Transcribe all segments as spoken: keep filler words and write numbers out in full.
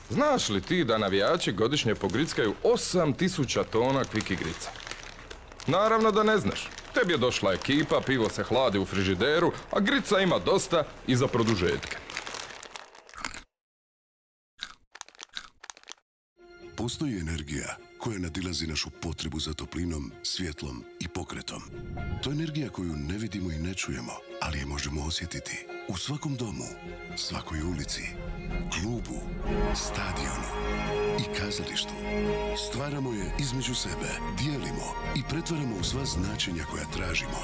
Znaš li ti da navijači godišnje pogrickaju osam tisuća tona kvik igrica? Naravno da ne znaš. Tebi je došla ekipa, pivo se hladi u frižideru, a grica ima dosta i za produžetke. Postoji energija koja nadilazi našu potrebu za toplinom, svjetlom i pokretom. To je energija koju ne vidimo i ne čujemo, ali je možemo osjetiti u svakom domu, svakoj ulici, klubu, stadionu i kazalištu. Stvaramo je između sebe, dijelimo i pretvaramo u sva značenja koja tražimo.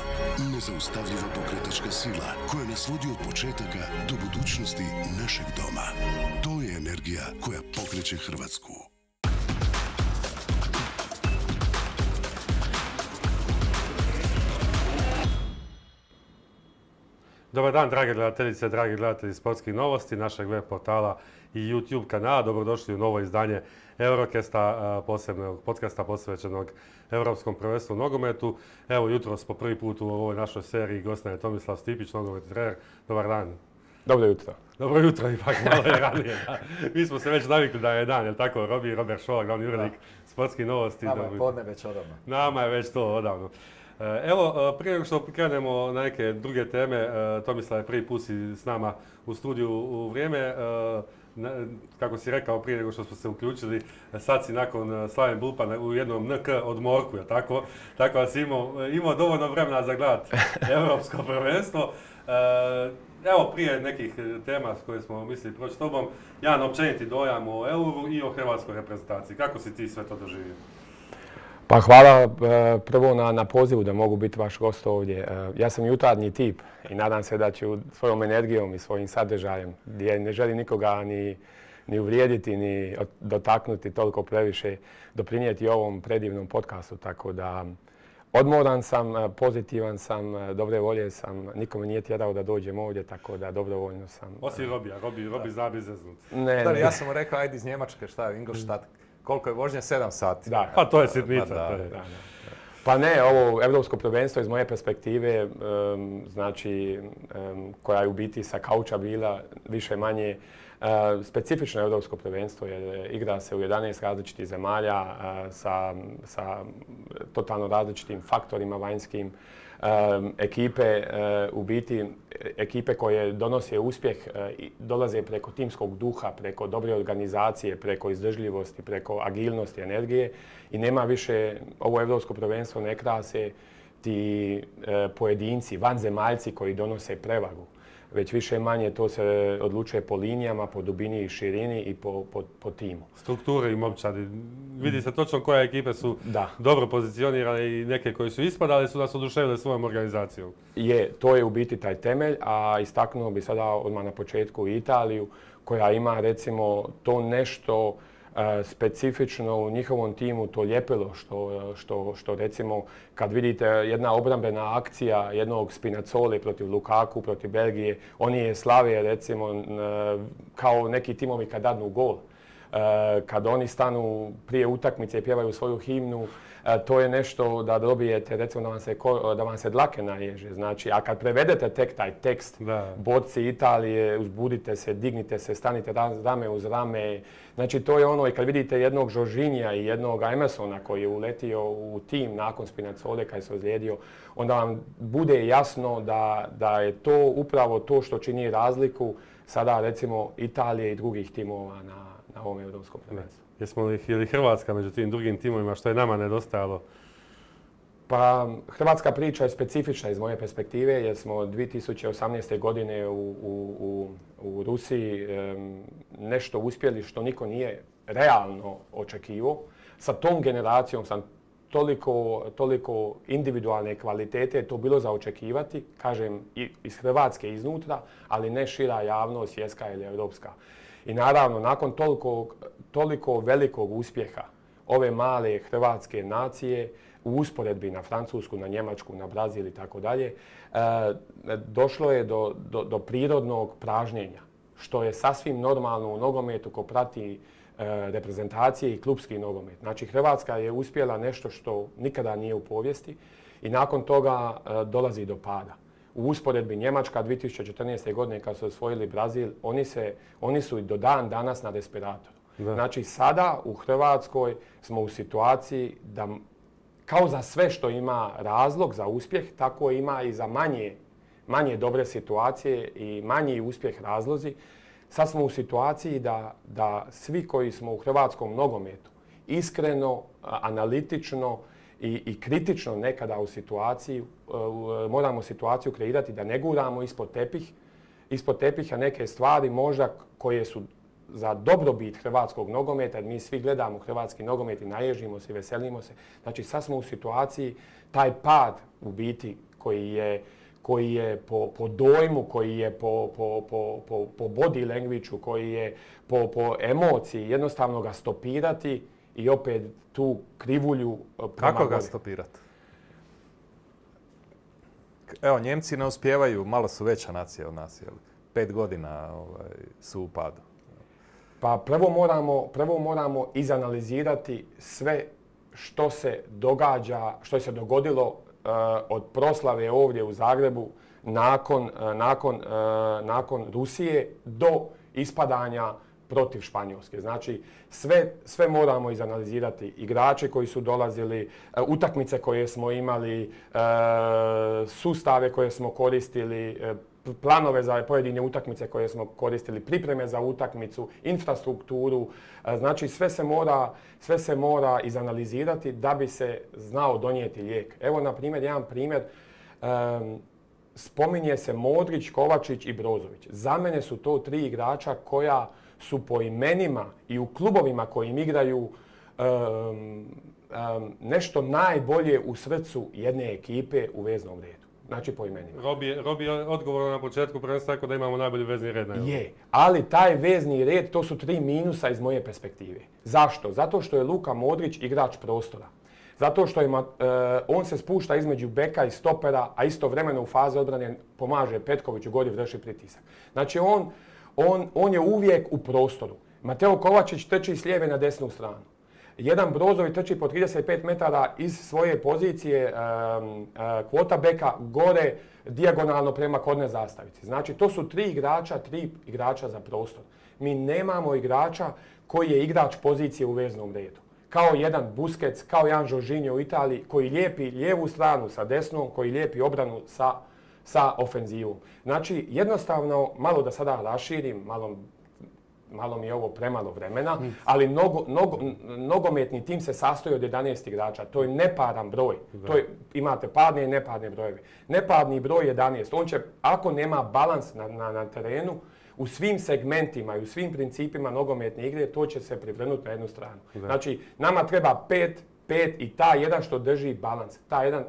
Nezaustavljiva pokretačka sila koja nas vodi od početaka do budućnosti našeg doma. To je energija koja pokreće Hrvatsku. Dobar dan, drage gledateljice, dragi gledatelji sportskih novosti, našeg web portala i YouTube kanala. Dobrodošli u novo izdanje Eurocasta, posebnog podcasta posvećenog Europskom prvenstvu u nogometu. Evo, jutros po prvi put u ovoj našoj seriji gost je Tomislav Stipić, nogometni trener. Dobar dan. Dobro jutro. Dobro jutro, ipak malo je ranije. Da. Mi smo se već navikli da je dan, jel tako? Robi Robert Šola, glavni urednik sportskih novosti. Nama je podne već odavno. Nama je već to odavno. Evo, prije nego što krenemo na neke druge teme, Tomislav je prvi put si s nama u studiju u vrijeme. Kako si rekao prije nego što smo se uključili, sad si nakon Slaven Bulpa u jednom N K odmorku, je tako? Tako da si imao, imao dovoljno vremena za gledat Europsko prvenstvo. Evo, prije nekih tema s koje smo mislili proći s tobom, jedan općeniti dojam o Euru i o hrvatskoj reprezentaciji. Kako si ti sve to doživio? Pa hvala prvo na, na pozivu da mogu biti vaš gost ovdje. Ja sam jutarnji tip i nadam se da ću svojom energijom i svojim sadržajem, gdje ne želim nikoga ni, ni uvrijediti, ni dotaknuti toliko previše, doprinijeti ovom predivnom podcastu. Tako da odmoran sam, pozitivan sam, dobre volje sam, nikome nije tjerao da dođem ovdje, tako da dobrovoljno sam. Osim Robija, Robi, Robi zna bi zeznut. Ne, Stari, ja sam mu rekao, ajde iz Njemačke, šta je, Ingolstadt. Koliko je vožnja? Sedam sati. Da. Pa to je sitnica. Pa, da, to je. da, da. Pa ne, ovo Europsko prvenstvo iz moje perspektive, um, znači, um, koja je u biti sa kauča bila više manje uh, specifično Europsko prvenstvo, jer igra se u jedanaest različitih zemalja uh, sa, sa totalno različitim faktorima vanjskim. Um, ekipe, uh, u biti, ekipe koje donose uspjeh uh, dolaze preko timskog duha, preko dobre organizacije, preko izdržljivosti, preko agilnosti, energije i nema više, ovo Europsko prvenstvo ne krase ti uh, pojedinci, vanzemaljci koji donose prevagu. Već više manje to se odlučuje po linijama, po dubini i širini i po, po, po timu. Strukture i momčadi. Vidi se točno koje ekipe su da. dobro pozicionirane i neke koji su ispadali su nas oduševile svojom organizacijom. Je, to je u biti taj temelj, a istaknuo bi sada odmah na početku Italiju koja ima recimo to nešto specifično u njihovom timu, to ljepilo što, što, što recimo kad vidite jedna obrambena akcija jednog Spinazzoli protiv Lukaku, protiv Belgije, oni je slave recimo kao neki timovi kad dadnu gol. Kad oni stanu prije utakmice i pjevaju svoju himnu, to je nešto da dobijete, recimo da vam se, da vam se dlake naježe. Znači, a kad prevedete tek taj tekst, da. Borci Italije, uzbudite se, dignite se, stanite rame uz rame. Znači, to je ono i kad vidite jednog Jorginha i jednog Emersona koji je uletio u tim nakon Spinazzole kad se ozlijedio, onda vam bude jasno da, da je to upravo to što čini razliku sada recimo Italije i drugih timova na, na ovom Europskom prvenstvu. Jesmo li, je li Hrvatska među tim drugim timovima što je nama nedostajalo? Pa hrvatska priča je specifična iz moje perspektive jer smo dvije tisuće osamnaeste. godine u, u, u, u Rusiji um, nešto uspjeli što niko nije realno očekivao. Sa tom generacijom sam toliko, toliko individualne kvalitete je to bilo za očekivati, kažem i iz Hrvatske iznutra, ali ne šira javnost, svjetska ili europska. I naravno, nakon toliko, toliko velikog uspjeha ove male hrvatske nacije, u usporedbi na Francusku, na Njemačku, na Brazil i tako dalje, došlo je do, do, do prirodnog pražnjenja, što je sasvim normalno u nogometu ko prati e, reprezentacije i klupski nogomet. Znači, Hrvatska je uspjela nešto što nikada nije u povijesti i nakon toga e, dolazi do pada. U usporedbi Njemačka dvije tisuće četrnaeste. godine kad su osvojili Brazil, oni, se, oni su i do dan danas na respiratoru. Da. Znači sada u Hrvatskoj smo u situaciji da kao za sve što ima razlog za uspjeh, tako ima i za manje, manje dobre situacije i manji uspjeh razlozi. Sad smo u situaciji da, da svi koji smo u hrvatskom nogometu iskreno, analitično i, i kritično nekada u situaciji, moramo situaciju kreirati da ne guramo ispod tepih, ispod tepiha neke stvari možda koje su za dobrobit hrvatskog nogometa, jer mi svi gledamo hrvatski nogomet i naježimo se i veselimo se. Znači sad smo u situaciji, taj pad u biti koji je, koji je po, po dojmu, koji je po, po, po, po, po body language-u, koji je po, po emociji, jednostavno ga stopirati i opet tu krivulju prema Kako ga gore. stopirati? Evo, Njemci ne uspijevaju, malo su veća nacija od nas, jel? Pet godina ovaj, su u padu. Pa prvo moramo, prvo moramo izanalizirati sve što se događa, što se dogodilo uh, od proslave ovdje u Zagrebu nakon, uh, nakon, uh, nakon Rusije do ispadanja protiv Španjolske. Znači, sve, sve moramo izanalizirati. Igrači koji su dolazili, uh, utakmice koje smo imali, uh, sustave koje smo koristili, uh, planove za pojedine utakmice koje smo koristili, pripreme za utakmicu, infrastrukturu. Znači sve se mora, sve se mora izanalizirati da bi se znao donijeti lijek. Evo na primjer, jedan primjer, um, spominje se Modrić, Kovačić i Brozović. Za mene su to tri igrača koja su po imenima i u klubovima kojim igraju um, um, nešto najbolje u srcu jedne ekipe u veznom redu. Znači po imenima. Robi je, Robi je odgovor na početku prvenstva rekao da imamo najbolji vezni red na Europi. Je, ali taj vezni red, to su tri minusa iz moje perspektive. Zašto? Zato što je Luka Modrić igrač prostora. Zato što ima, e, on se spušta između beka i stopera, a istovremeno u fazi odbrane pomaže Petkoviću, godi vrši pritisak. Znači on, on, on je uvijek u prostoru. Mateo Kovačić trči s lijeve na desnu stranu. Jedan Brozović trči po trideset pet metara iz svoje pozicije um, uh, quarterbacka gore dijagonalno prema korner zastavici. Znači to su tri igrača, tri igrača za prostor. Mi nemamo igrača koji je igrač pozicije u veznom redu. Kao jedan Busquets, kao jedan Jorginho u Italiji koji lijepi lijevu stranu sa desnom, koji lijepi obranu sa, sa ofenzivom. Znači jednostavno, malo da sada raširim, malo malo mi je ovo premalo vremena, ali nogo, nogo, nogometni tim se sastoji od jedanaest igrača. To je neparan broj. To je, imate parne i neparne brojeve. Neparni broj jedanaest. On će, ako nema balans na, na, na terenu, u svim segmentima i u svim principima nogometne igre, to će se privrnuti na jednu stranu. Da. Znači, nama treba pet, pet i ta jedan što drži balans. Ta jedan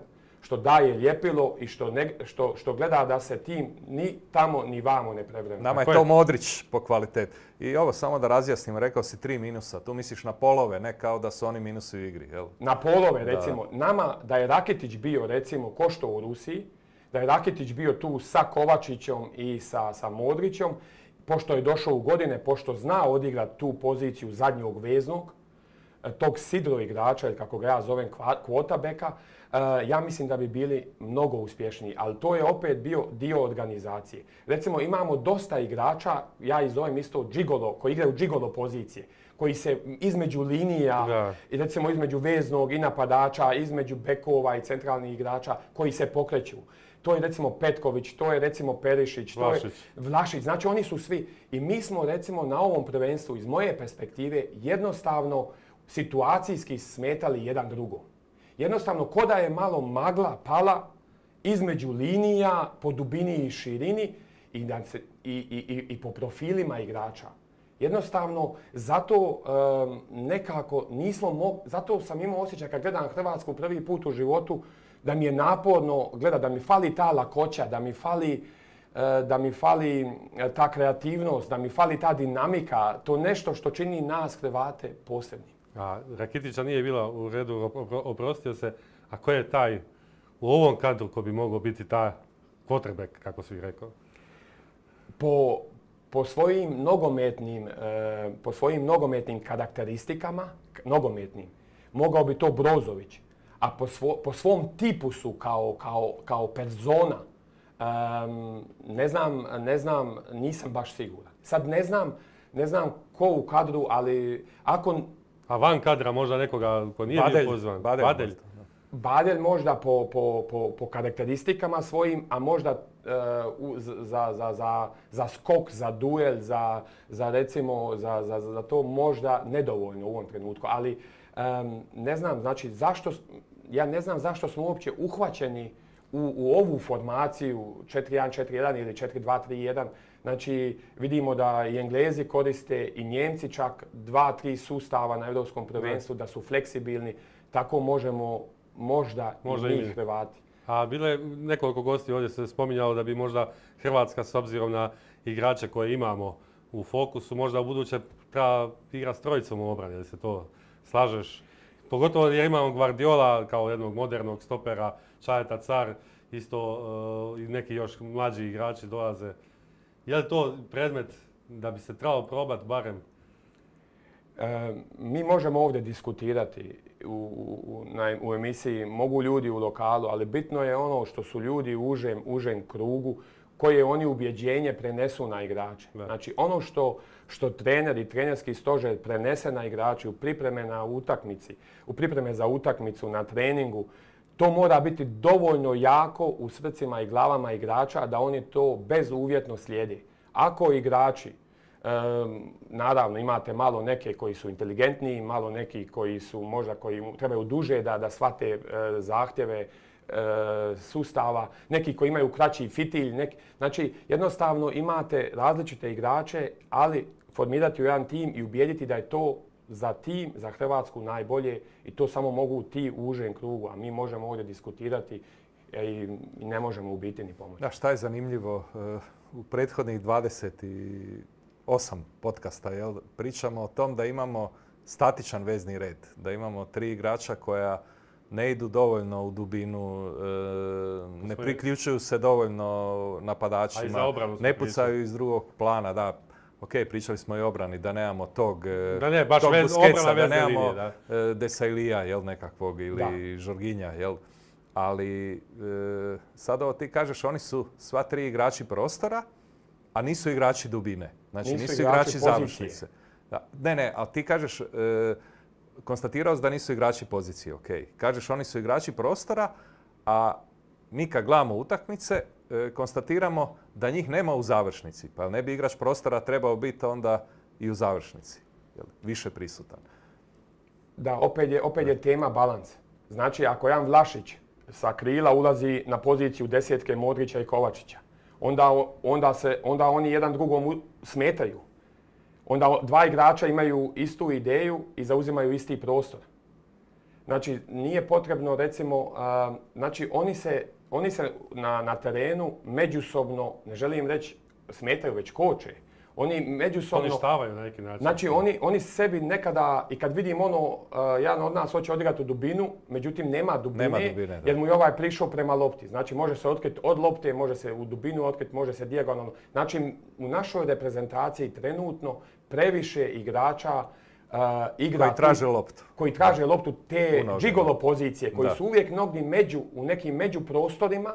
što daje ljepilo i što, ne, što, što gleda da se tim ni tamo ni vamo ne prevrne. Nama je to Modrić po kvaliteti. I ovo samo da razjasnim, rekao si tri minusa. Tu misliš na polove, ne kao da su oni minusi u igri, jel? Na polove, recimo. Da. Nama, da je Rakitić bio, recimo, ko što u Rusiji, da je Rakitić bio tu sa Kovačićom i sa, sa Modrićom, pošto je došao u godine, pošto zna odigrati tu poziciju zadnjog veznog, tog sidro igrača, ili kako ga ja zovem, quarterbacka, Uh, ja mislim da bi bili mnogo uspješniji, ali to je opet bio dio organizacije. Recimo imamo dosta igrača, ja ih zovem isto džigolo, koji igraju džigolo pozicije, koji se između linija, da. I recimo između veznog i napadača, između bekova i centralnih igrača, koji se pokreću. To je recimo Petković, to je recimo Perišić, Vlašić. to je Vlašić. Znači oni su svi. I mi smo recimo na ovom prvenstvu iz moje perspektive jednostavno situacijski smetali jedan drugom. Jednostavno, ko da je malo magla pala između linija po dubini i širini i, da se, i, i, i po profilima igrača. Jednostavno, zato um, nekako nismo mogli, zato sam imao osjećaj kad gledam Hrvatsku prvi put u životu da mi je naporno gledati, da mi fali ta lakoća, da mi fali, uh, da mi fali ta kreativnost, da mi fali ta dinamika, to nešto što čini nas Hrvate posebni. A Rakitića nije bila u redu, oprostio se. A ko je taj u ovom kadru ko bi mogao biti taj quarterback, kako si rekao? Po, po, svojim nogometnim, e, po svojim nogometnim karakteristikama, nogometnim, mogao bi to Brozović. A po, svo, po svom tipusu kao, kao, kao persona, e, ne znam, ne znam, nisam baš siguran. Sad ne znam, ne znam ko u kadru, ali ako... A van kadra možda nekoga ko nije Badelj, bio pozvan? Badelj. Badelj. Badelj možda po, po, po, po karakteristikama svojim, a možda uh, u, za, za, za, za skok, za duel, za, za recimo, za, za, za to možda nedovoljno u ovom trenutku. Ali um, ne znam, znači zašto, ja ne znam zašto smo uopće uhvaćeni u, u ovu formaciju četiri jedan četiri jedan ili četiri dva tri jedan. Znači vidimo da i Englezi koriste i Njemci čak dva tri sustava na Europskom prvenstvu, da su fleksibilni, tako možemo možda, možda i mi Hrvati. A bilo je nekoliko gosti ovdje se spominjalo da bi možda Hrvatska s obzirom na igrače koje imamo u fokusu možda u buduće treba igrati s trojicom u obrani, da se to slažeš. Pogotovo jer imamo Guardiola kao jednog modernog stopera, Čajeta Car, isto uh, i neki još mlađi igrači dolaze. Je li to predmet da bi se trebalo probati barem? E, mi možemo ovdje diskutirati u, u, na, u emisiji, mogu ljudi u lokalu, ali bitno je ono što su ljudi u užem, užem krugu, koje oni ubjeđenje prenesu na igrače. Da. Znači ono što, što trener i trenerski stožer prenese na igrače u pripreme na utakmici, u pripreme za utakmicu, na treningu, to mora biti dovoljno jako u srcima i glavama igrača da oni to bezuvjetno slijede. Ako igrači, e, naravno imate malo neke koji su inteligentniji, malo neki koji su možda koji trebaju duže da, da shvate e, zahtjeve e, sustava, neki koji imaju kraći fitilj, neki, znači jednostavno imate različite igrače, ali formirati u jedan tim i ubijediti da je to za tim, za Hrvatsku najbolje i to samo mogu ti u užem krugu, a mi možemo ovdje diskutirati i ne možemo u biti ni pomoći. Da, šta je zanimljivo, u prethodnih dvadeset osam podcasta jel, pričamo o tom da imamo statičan vezni red, da imamo tri igrača koja ne idu dovoljno u dubinu, ne priključuju se dovoljno napadačima, ne pucaju iz drugog plana. Da, ok, pričali smo i o obrani, da nemamo tog, da ne, baš tog vez, Busquetsa, da nemamo linije, da. Desaillija, jel, nekakvog, ili Žorginja, jel. Ali e, sad ovo ti kažeš, oni su sva tri igrači prostora, a nisu igrači dubine. Znači nisu, nisu igrači, igrači završnice. Da. Ne, ne, ali ti kažeš, e, konstatirao si da nisu igrači pozicije, ok. Kažeš oni su igrači prostora, a mi kad gledamo utakmice, e, konstatiramo da njih nema u završnici. Pa ne bi igrač prostora trebao biti onda i u završnici. Jel, više prisutan. Da, opet je, opet je tema balans. Znači, ako jedan Vlašić sa krila ulazi na poziciju desetke Modrića i Kovačića, onda, onda, se, onda oni jedan drugom smetaju. Onda dva igrača imaju istu ideju i zauzimaju isti prostor. Znači, nije potrebno, recimo, uh, znači oni se, oni se na, na terenu međusobno, ne želim reći smetaju, već koče. Oni međusobno... Poništavaju na neki način. Znači, oni, oni sebi nekada, i kad vidim ono, uh, jedan od nas hoće odigrati u dubinu, međutim nema dubine, nema dubine jer mu je ovaj prišao prema lopti. Znači, može se otkriti od lopte, može se u dubinu otkriti, može se dijagonalno. Znači, u našoj reprezentaciji trenutno previše igrača uh, igra... Koji traže loptu. Koji traže da. loptu te džigolo pozicije, koji da. su uvijek mnogi među, u nekim međuprostorima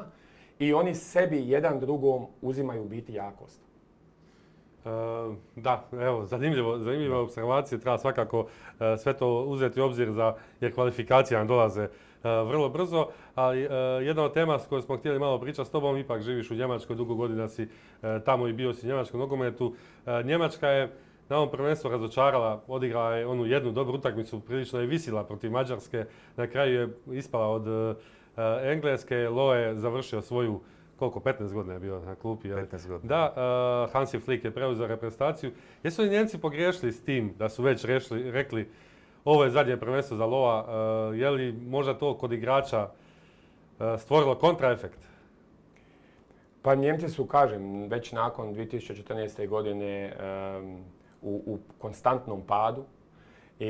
i oni sebi jedan drugom uzimaju biti jakost. Uh, da, evo, zanimljivo, zanimljive observacije, treba svakako uh, sve to uzeti u obzir za, jer kvalifikacije nam dolaze uh, vrlo brzo, ali uh, jedna od tema s kojoj smo htjeli malo pričati s tobom, ipak živiš u Njemačkoj, dugo godina si uh, tamo i bio si u njemačkom nogometu. Uh, Njemačka je na ovom prvenstvu razočarala, odigrala je onu jednu dobru utakmicu, prilično je visila protiv Mađarske, na kraju je ispala od uh, Engleske, Loe je završio svoju koliko, petnaest godina je bio na klupi. petnaest godina. Da, uh, Hansi Flick je preuzeo reprezentaciju. Jesu li Njemci pogriješili s tim da su već rešli, rekli ovo je zadnje prvenstvo za Loa? Uh, je li možda to kod igrača uh, stvorilo kontraefekt? Pa Njemci su, kažem, već nakon dvije tisuće četrnaeste. godine um, u, u konstantnom padu. I,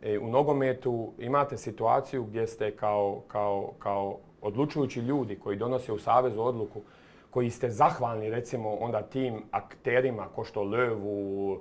i u nogometu imate situaciju gdje ste kao, kao, kao odlučujući ljudi koji donose u savezu odluku, koji ste zahvalni recimo onda tim akterima ko što Löwu,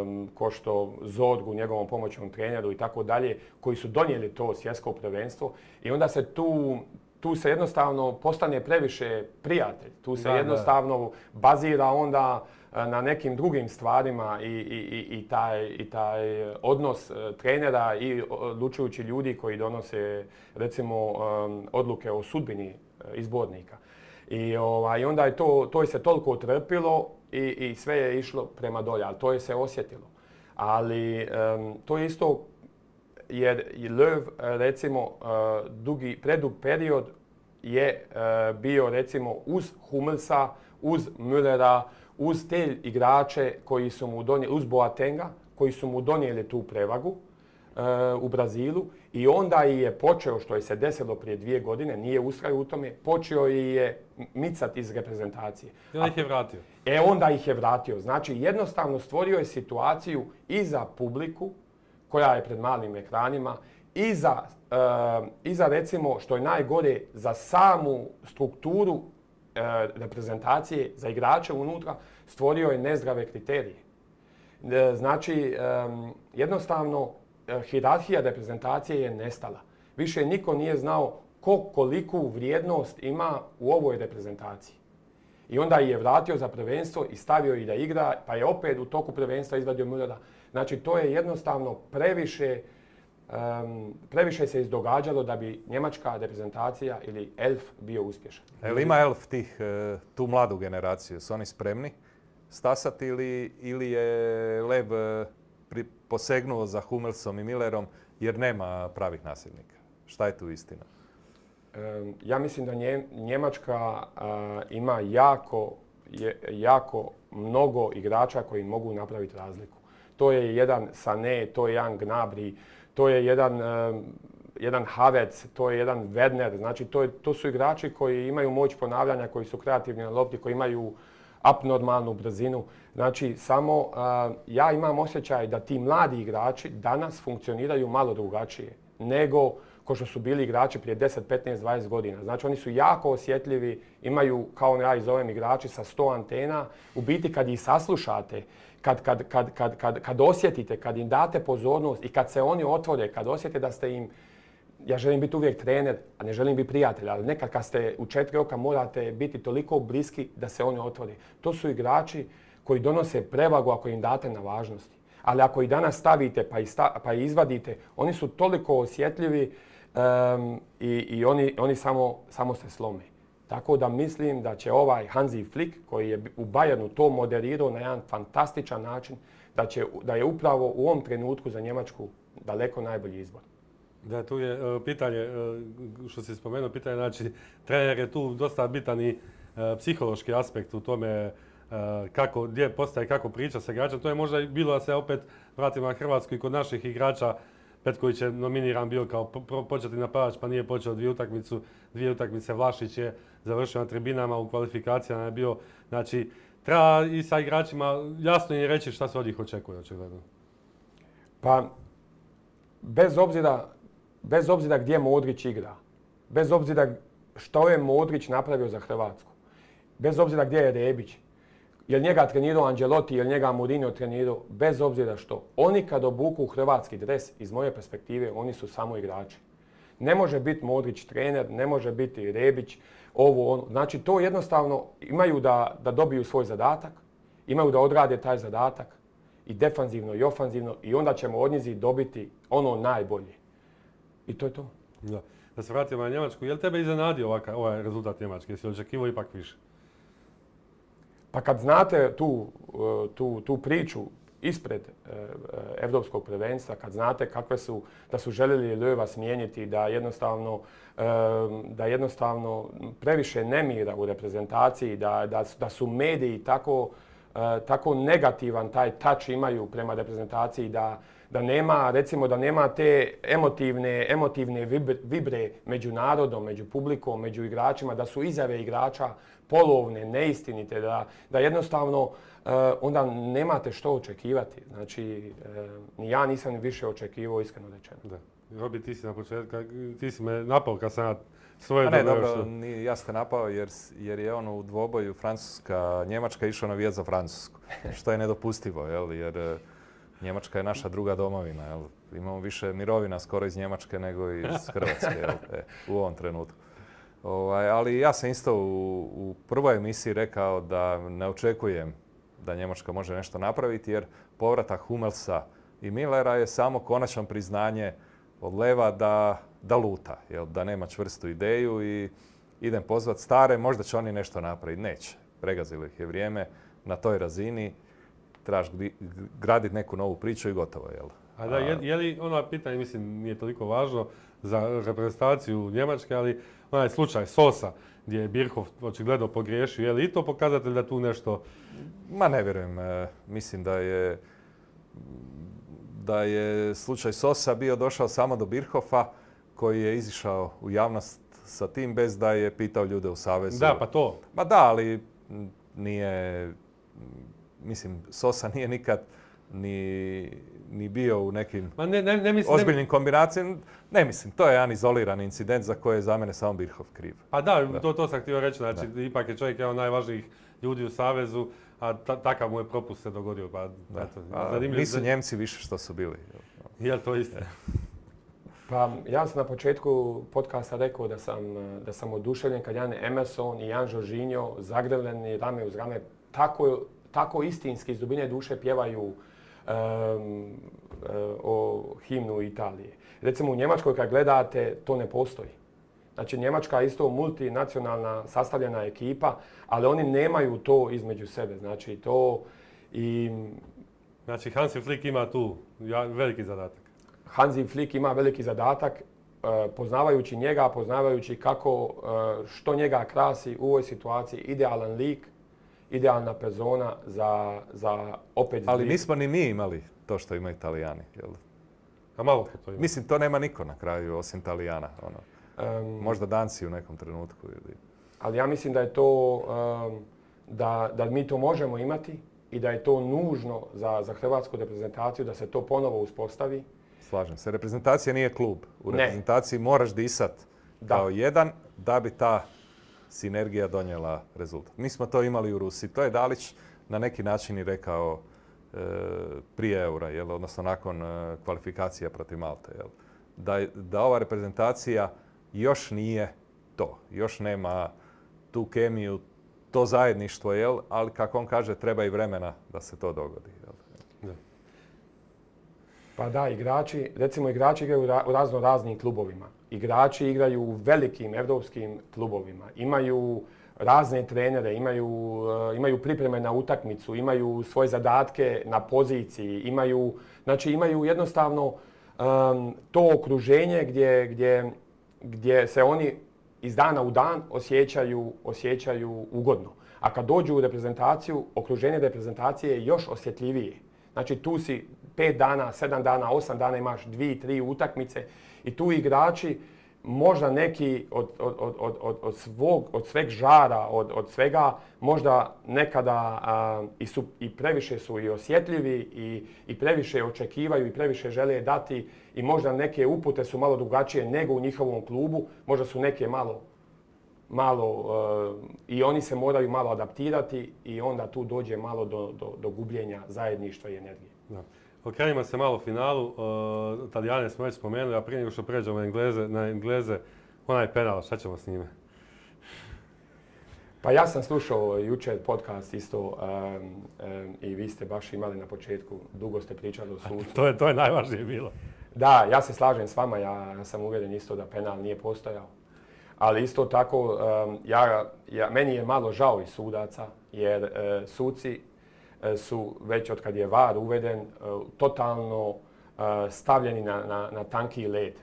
um, ko što Zorgu, njegovom pomoćnom treneru i tako dalje, koji su donijeli to svjetsko prvenstvo. I onda se tu tu se jednostavno postane previše prijatelj. Tu se Da, jednostavno bazira onda na nekim drugim stvarima i, i, i, taj, i taj odnos trenera i odlučujući ljudi koji donose recimo odluke o sudbini izbornika. I ovaj, onda je to, to je se toliko otrpilo i, i sve je išlo prema dolje, ali to je se osjetilo. Ali um, to je isto jer Löw recimo uh, dugi, predug period je uh, bio recimo uz Hummelsa, uz Müllera, uz te igrače koji su mu donijeli, uz Boatenga, koji su mu donijeli tu prevagu uh, u Brazilu i onda je počeo, što je se desilo prije dvije godine, nije ustrajao u tome, počeo je micat iz reprezentacije. I onda ih je vratio. E onda ih je vratio. Znači jednostavno stvorio je situaciju i za publiku koja je pred malim ekranima i za, uh, i za recimo što je najgore za samu strukturu uh, reprezentacije, za igrače unutra, stvorio je nezdrave kriterije. Uh, znači um, jednostavno uh, hijerarhija reprezentacije je nestala. Više niko nije znao ko koliku vrijednost ima u ovoj reprezentaciji. I onda je vratio za prvenstvo i stavio ih da igra, pa je opet u toku prvenstva izvadio Müllera. Znači, to je jednostavno previše, um, previše se izdogađalo da bi njemačka reprezentacija ili Elf bio uspješan. Jel ima Elf tih, tu mladu generaciju? Su oni spremni stasati ili, ili je Lev pri, posegnuo za Hummelsom i Müllerom jer nema pravih nasljednika? Šta je tu istina? Um, ja mislim da nje, Njemačka uh, ima jako, je, jako mnogo igrača koji mogu napraviti razliku. To je jedan Sané, to je jedan Gnabry, to je jedan, um, jedan Havertz, to je jedan Werner. Znači, to, je, to su igrači koji imaju moć ponavljanja, koji su kreativni na lopti, koji imaju abnormalnu brzinu. Znači, samo uh, ja imam osjećaj da ti mladi igrači danas funkcioniraju malo drugačije nego ko što su bili igrači prije deset, petnaest, dvadeset godina. Znači, oni su jako osjetljivi, imaju, kao ja ih zovem, igrači sa sto antena. U biti, kad ih saslušate, kad, kad, kad, kad, kad, kad osjetite, kad im date pozornost i kad se oni otvore, kad osjete da ste im, ja želim biti uvijek trener, a ne želim biti prijatelj, ali nekad kad ste u četiri oka morate biti toliko bliski da se oni otvore. To su igrači koji donose prevagu ako im date na važnosti. Ali ako ih danas stavite pa ih, sta, pa ih izvadite, oni su toliko osjetljivi um, i, i oni, oni samo, samo se slome. Tako da mislim da će ovaj Hansi Flick, koji je u Bayernu to moderirao na jedan fantastičan način, da, će, da je upravo u ovom trenutku za Njemačku daleko najbolji izbor. Da, tu je uh, pitanje, uh, što si spomenuo, pitanje, znači, trener je tu dosta bitan i uh, psihološki aspekt u tome uh, kako, gdje postaje, kako priča sa igračem. To je možda bilo da se opet vratimo na Hrvatsku i kod naših igrača. Petković je nominiran bio kao početni napadač, pa nije počeo dvije utakmicu, dvije utakmice. Vlašić je završio na tribinama, u kvalifikacijama je bio. Znači, treba i sa igračima jasno im reći šta se od njih očekuje, očigledno. Pa, bez obzira, bez obzira gdje Modrić igra, bez obzira što je Modrić napravio za Hrvatsku, bez obzira gdje je Rebić, jel njega trenirao Ancelotti, jel njega Mourinho trenirao, bez obzira što. Oni kad obuku hrvatski dres, iz moje perspektive, oni su samo igrači. Ne može biti Modrić trener, ne može biti Rebić, ovo, ono. Znači, to jednostavno imaju da, da dobiju svoj zadatak, imaju da odrade taj zadatak i defanzivno i ofanzivno i onda ćemo od njih dobiti ono najbolje. I to je to. Da, da se vratimo na Njemačku, je li tebe iznenadio ovaka, ovaj rezultat Njemačke? Jesi li očekivao ipak više? Pa kad znate tu, tu, tu priču ispred Evropskog prvenstva, kad znate kakve su, da su željeli Löwa smijeniti, da jednostavno, da jednostavno previše nemira u reprezentaciji, da, da, da su mediji tako, tako negativan taj touch imaju prema reprezentaciji, da, da nema, recimo da nema te emotivne, emotivne vibre među narodom, među publikom, među igračima, da su izjave igrača polovne, neistinite, da, da jednostavno uh, onda nemate što očekivati. Znači, uh, ni ja nisam više očekivao, iskreno rečeno. Da. Robi, ti si na početku, ti si me napao kad sam ja svoje ne, dobro, što... ni, ja ste napao jer, jer je ono u dvoboju Francuska-Njemačka išao navijat za Francusku, što je nedopustivo, jel? Jer Njemačka je naša druga domovina, jel? Imamo više mirovina skoro iz Njemačke nego iz Hrvatske, jel? E, u ovom trenutku. Ovaj, ali ja sam isto u, u prvoj emisiji rekao da ne očekujem da Njemačka može nešto napraviti, jer povratak Hummelsa i Millera je samo konačno priznanje od Leva da, da luta, jel, da nema čvrstu ideju i idem pozvat stare, možda će oni nešto napraviti. Neće. Pregazilo ih je vrijeme na toj razini, trebaš graditi neku novu priču i gotovo, jel? A da, je, je li ono pitanje, mislim, nije toliko važno za reprezentaciju Njemačke, ali onaj slučaj Sosa, gdje je Birkhoff očigledno pogriješio, je li i to pokazatelj da tu nešto... Ma ne vjerujem. E, mislim da je, da je slučaj Sosa bio došao samo do Birkhoffa, koji je izišao u javnost sa tim bez da je pitao ljude u savezu. Da, pa to. Ma da, ali nije... Mislim, Sosa nije nikad ni, ni bio u nekim Ma ne, ne, ne mislim, ozbiljnim ne... kombinacijama. Ne mislim, to je jedan izoliran incident za koje je za mene samo Birkhoff kriv. Pa da, da. To, to sam htio reći. Znači, da. Ipak je čovjek jedan od najvažnijih ljudi u savezu, a ta, takav mu je propust se dogodio. Pa, eto, a, nisu Njemci više što su bili. Je to isto? Pa ja sam na početku podcasta rekao da sam, da sam oduševljen kad Jan Emerson i Jan Jorginho zagrljeni rame uz rame tako, tako istinski iz dubine duše pjevaju um, o himnu Italije. Recimo u Njemačkoj kad gledate to ne postoji. Znači Njemačka je isto multinacionalna sastavljena ekipa, ali oni nemaju to između sebe. Znači to i... Znači Hansi Flick ima tu veliki zadatak. Hansi Flick ima veliki zadatak, poznavajući njega, poznavajući kako, što njega krasi u ovoj situaciji, idealan lik, idealna persona za, za opet... Ali nismo ni mi imali to što imaju Italijani, jel? A malo ko to ima. Mislim, to nema niko na kraju osim Italijana. Ono. Um, Možda Danci u nekom trenutku. Ili... Ali ja mislim da je to, um, da, da mi to možemo imati i da je to nužno za, za hrvatsku reprezentaciju, da se to ponovo uspostavi. Slažem se. Reprezentacija nije klub. U reprezentaciji ne. Moraš disat kao da. jedan da bi ta sinergija donijela rezultat. Mi smo to imali u Rusiji. To je Dalić na neki način i rekao e, prije eura, jel? Odnosno nakon e, kvalifikacija protiv Malte. Jel? Da, da ova reprezentacija još nije to. Još nema tu kemiju, to zajedništvo, jel? Ali kako on kaže, treba i vremena da se to dogodi. Jel? Da. Pa da, igrači, recimo igrači igraju u razno raznim klubovima. Igrači igraju u velikim evropskim klubovima. Imaju razne trenere, imaju, uh, imaju pripreme na utakmicu, imaju svoje zadatke na poziciji, imaju, znači imaju jednostavno um, to okruženje gdje, gdje, gdje se oni iz dana u dan osjećaju, osjećaju ugodno. A kad dođu u reprezentaciju, okruženje reprezentacije je još osjetljivije. Znači tu si pet dana, sedam dana, osam dana imaš dvije, tri utakmice i tu igrači možda neki od, od, od, od, od, svog, od sveg žara, od, od svega možda nekada a, i, su, i previše su i osjetljivi i, i previše očekivaju i previše žele dati i možda neke upute su malo drugačije nego u njihovom klubu, možda su neke malo malo uh, i oni se moraju malo adaptirati i onda tu dođe malo do, do, do gubljenja zajedništva i energije. Da. Okrenimo se malo finalu. Uh, Italijane smo već spomenuli, a prije nego što pređemo na Engleze, na Engleze, onaj penal, šta ćemo s njime? Pa ja sam slušao jučer podcast isto um, um, i vi ste baš imali na početku, dugo ste pričali o sucu. to, je, to je najvažnije bilo. Da, ja se slažem s vama, ja sam uvjeren isto da penal nije postojao. Ali isto tako, um, ja, ja, meni je malo žao i sudaca, jer uh, suci uh, su već od kad je V A R uveden uh, totalno uh, stavljeni na, na, na tanki led.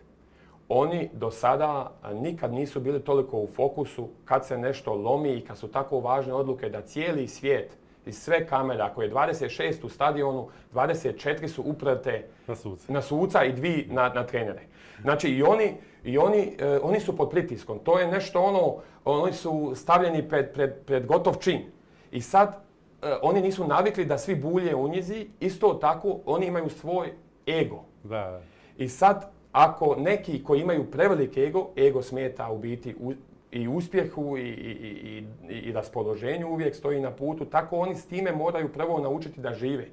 Oni do sada uh, nikad nisu bili toliko u fokusu kad se nešto lomi i kad su tako važne odluke da cijeli svijet i sve kamere, ako je dvadeset šest u stadionu, dvadeset četiri su uprte na suca, na suca i dvije na, na trenere. Znači i oni I oni, eh, oni su pod pritiskom. To je nešto ono, oni su stavljeni pred, pred, pred gotov čin. I sad eh, oni nisu navikli da svi bulje u njizi, isto tako oni imaju svoj ego. Da. I sad ako neki koji imaju prevelik ego, ego smeta u biti u, i uspjehu i, i, i, i raspoloženju uvijek stoji na putu, tako oni s time moraju prvo naučiti da žive.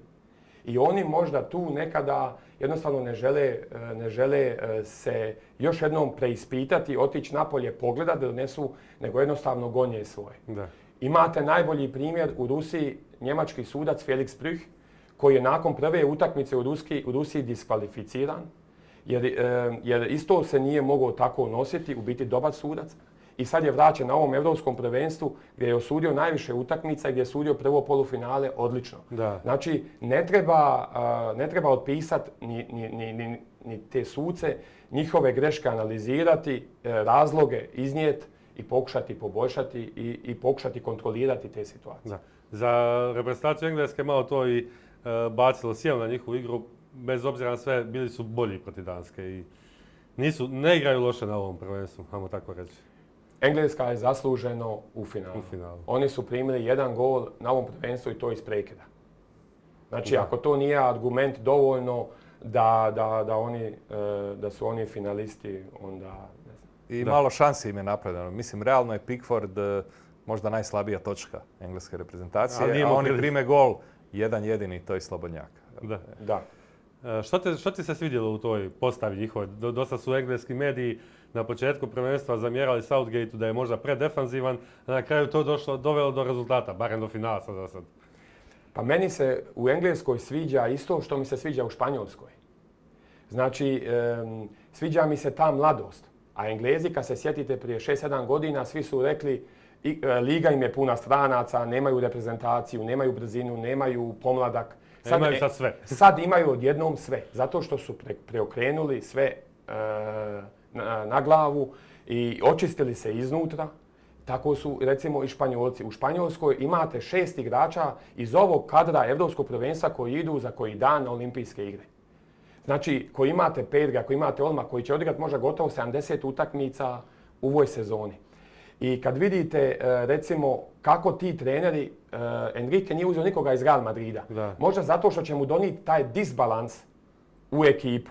I oni možda tu nekada jednostavno ne žele, ne žele se još jednom preispitati, otići napolje, pogledati da donesu, nego jednostavno gonje svoje. Da. Imate najbolji primjer u Rusiji, njemački sudac Felix Brüch, koji je nakon prve utakmice u, Ruski, u Rusiji diskvalificiran, jer, jer isto se nije mogao tako nositi, u biti dobar sudac. I sad je vraćen na ovom europskom prvenstvu gdje je osudio najviše utakmica i gdje je sudio prvo polufinale odlično. Da. Znači, ne treba, ne treba otpisati ni, ni, ni, ni, ni te suce, njihove greške analizirati, razloge iznijeti i pokušati poboljšati i, i pokušati kontrolirati te situacije. Da. Za reprezentaciju Engleske malo to i e, bacilo sjelo na njihovu igru, bez obzira na sve, bili su bolji protiv Danske i nisu, ne igraju loše na ovom prvenstvu, ajmo tako reći. Engleska je zasluženo u finalu. U finalu. Oni su primili jedan gol na ovom prvenstvu i to iz prekida. Znači, Da. ako to nije argument dovoljno da, da, da, oni, da su oni finalisti, onda ne znam. I Da. malo šansi im je napravljeno. Mislim, realno je Pickford eh, možda najslabija točka engleske reprezentacije, Ali nije a imao oni priliku. prime gol jedan jedini, to je Slobodnjak. Da. Da. E, Što, te, što ti se svidjelo u toj postavi njihove? Do- Dosta su engleski mediji na početku prvenstva zamjerali Southgateu da je možda predefanzivan, a na kraju to došlo, dovelo do rezultata, barem do finala sad za sad. Pa meni se u Engleskoj sviđa isto što mi se sviđa u Španjolskoj. Znači, em, sviđa mi se ta mladost. A Englezi, kad se sjetite prije šest sedam godina, svi su rekli i, e, liga im je puna stranaca, nemaju reprezentaciju, nemaju brzinu, nemaju pomladak. Imaju sad sve. Sad imaju odjednom sve, zato što su pre, preokrenuli sve e, na, na glavu i očistili se iznutra. Tako su, recimo, i Španjolci. U Španjolskoj imate šest igrača iz ovog kadra Europskog prvenstva koji idu za koji dan na olimpijske igre. Znači, koji imate Pedra, koji imate Olma, koji će odigrati možda gotovo sedamdeset utakmica u ovoj sezoni. I kad vidite, recimo, kako ti treneri, Enrique nije uzeo nikoga iz Real Madrida. Da. Možda zato što će mu donijeti taj disbalans u ekipu.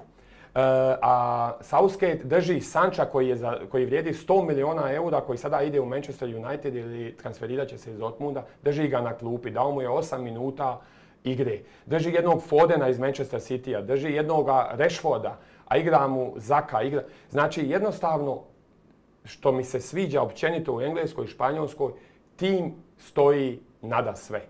A Southgate drži Sancha koji, je za, koji vrijedi sto milijuna eura, koji sada ide u Manchester United ili transferirat će se iz Dortmunda, drži ga na klupi, dao mu je osam minuta igre. Drži jednog Fodena iz Manchester Citya, drži jednog Rashforda, a igra mu Zaka. Igra. Znači, jednostavno, što mi se sviđa općenito u Engleskoj i Španjolskoj, tim stoji nada sve.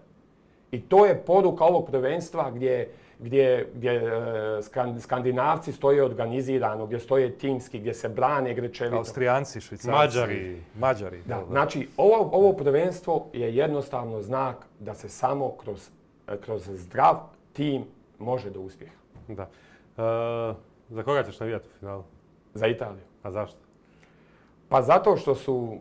I to je poruka ovog prvenstva gdje, gdje, gdje e, Skandinavci stoje organizirano, gdje stoje timski, gdje se brane grečevito. Austrijanci, Švicarci, Mađari. Mađari. Da, da, da. znači, ovo, ovo prvenstvo je jednostavno znak da se samo kroz, kroz zdrav tim može do uspjeha. Da. E, za koga ćeš navijati u finalu? Za Italiju. A zašto? Pa zato što su,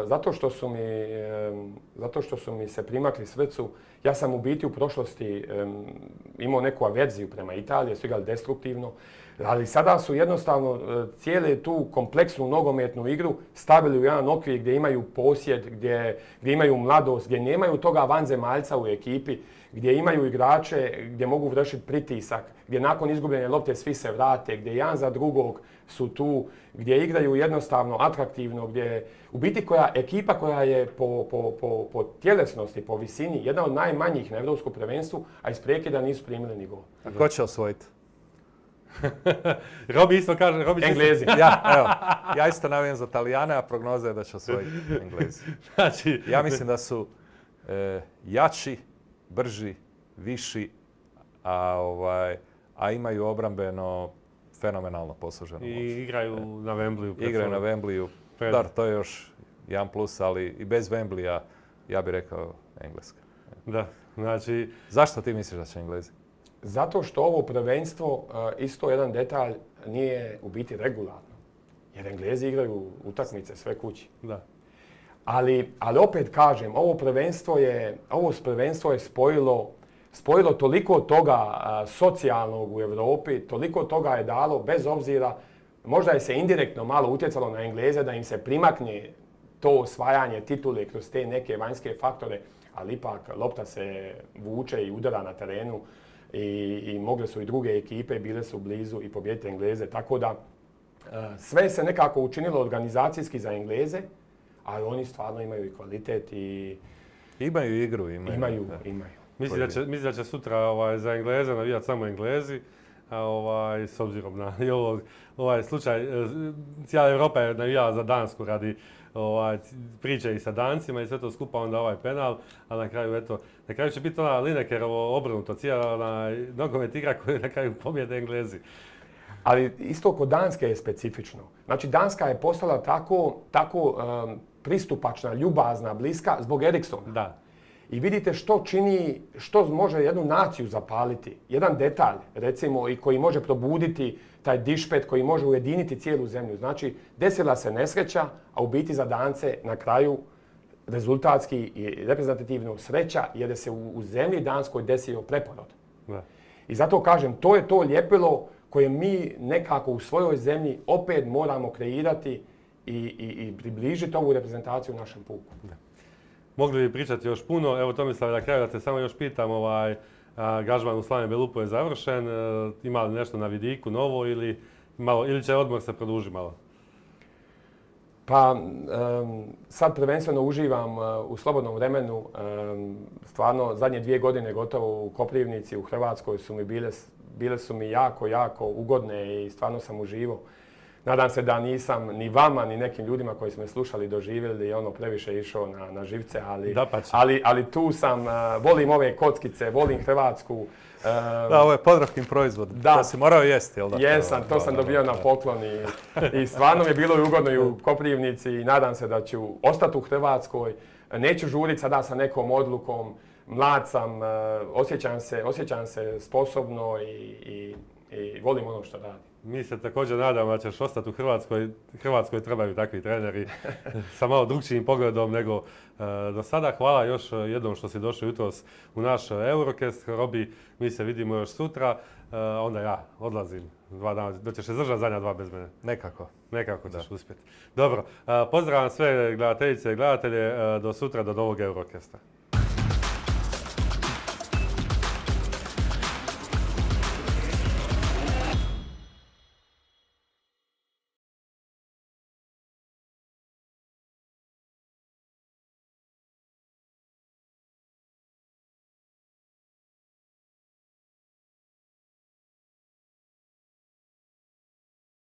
e, zato što su mi, e, zato što su mi se primakli srcu. Ja sam u biti u prošlosti e, imao neku averziju prema Italiji, su igrali destruktivno, ali sada su jednostavno e, cijelu tu kompleksnu nogometnu igru stavili u jedan okvir gdje imaju posjed, gdje, gdje imaju mladost, gdje nemaju toga vanzemaljca u ekipi, gdje imaju igrače gdje mogu vršiti pritisak, gdje nakon izgubljene lopte svi se vrate, gdje jedan za drugog su tu, gdje igraju jednostavno atraktivno, gdje u biti koja ekipa koja je po, po, po, po tjelesnosti, po visini, jedna od najmanjih na Europskom prvenstvu, a iz prekida nisu primili ni gol. A ko će osvojiti? Robi isto kaže... Robi Englezi. Ja, evo, ja isto navijam za Talijane, a prognoza je da će osvojiti Englezi. Znači, Ja mislim da su e, jači, brži, viši, a, ovaj, a imaju obrambeno fenomenalno posluženu moć. i igraju na Wembleyu. pred Igraju na svojom- Wembleyu. pred- Dar, to je još jedan plus, ali i bez Wembleya, ja bih rekao Engleska. Da, znači... Zašto ti misliš da će Englezi? Zato što ovo prvenstvo, e, isto jedan detalj, nije u biti regularno. Jer Englezi igraju utakmice sve kući. Da. Ali, ali opet kažem, ovo prvenstvo je, ovo prvenstvo je spojilo, spojilo toliko toga a, socijalnog u Europi, toliko toga je dalo, bez obzira, možda je se indirektno malo utjecalo na Engleze da im se primakne to osvajanje titule kroz te neke vanjske faktore, ali ipak lopta se vuče i udara na terenu i, i mogle su i druge ekipe, bile su blizu i pobijediti Engleze, tako da a, sve se nekako učinilo organizacijski za Engleze, ali oni stvarno imaju i kvalitet i Imaju igru, imaju. imaju, da. imaju. Mislim da će, mislim da će sutra ovaj, za Engleze navijati samo Englezi, a ovaj, s obzirom na i ovog, ovaj slučaj, cijela Europa je navijala za Dansku radi ovaj, priče i sa Dancima i sve to skupa, onda ovaj penal, a na kraju, eto, na kraju će biti ona Linekerovo obrnuto, cijela ona nogomet igra koju na kraju pobjede Englezi. Ali isto kod Danske je specifično. Znači, Danska je postala tako, tako um, pristupačna, ljubazna, bliska zbog Eriksona. Da. I vidite što čini, što može jednu naciju zapaliti. Jedan detalj, recimo, i koji može probuditi taj dišpet, koji može ujediniti cijelu zemlju. Znači, desila se nesreća, a u biti za Dance na kraju rezultatski i reprezentativno sreća, jer je se u, u zemlji Danskoj desio preporod. Da. I zato kažem, to je to ljepilo koje mi nekako u svojoj zemlji opet moramo kreirati i, i, i približiti ovu reprezentaciju našem puku. Da. Mogli bi pričati još puno. Evo Tomislav, na kraju da te samo još pitam, ovaj, angažman u Slaven Belupu je završen. E, ima li nešto na vidiku novo ili, malo, ili će odmor se produžiti malo? Pa um, sad prvenstveno uživam uh, u slobodnom vremenu. Um, stvarno zadnje dvije godine gotovo u Koprivnici, u Hrvatskoj su mi bile, bile su mi jako, jako ugodne i stvarno sam uživao. Nadam se da nisam ni vama, ni nekim ljudima koji su me slušali doživjeli i ono previše išao na, na živce, ali, ali, ali tu sam, uh, volim ove kockice, volim Hrvatsku. Uh, da, ovo je Podravkin proizvod, da, to si morao jesti, jel da? Jesam, to sam dobio na poklon i, i stvarno mi je bilo i ugodno i u Koprivnici i nadam se da ću ostati u Hrvatskoj. Neću žuriti sada sa nekom odlukom, mlad sam, uh, osjećam se, osjećam se sposobno i, i, i volim ono što radim. Mi se također nadamo da ćeš ostati u Hrvatskoj. Hrvatskoj trebaju takvi treneri sa malo drugčijim pogledom nego uh, do sada. Hvala još jednom što si došao jutros u naš Eurocast. Robi, mi se vidimo još sutra. Uh, onda ja odlazim dva dana. Da ćeš se zdržati zadnja dva bez mene. Nekako. Nekako ćeš uspjeti. Dobro, uh, pozdravljam sve gledateljice i gledatelje. Uh, do sutra, do novog Eurocasta.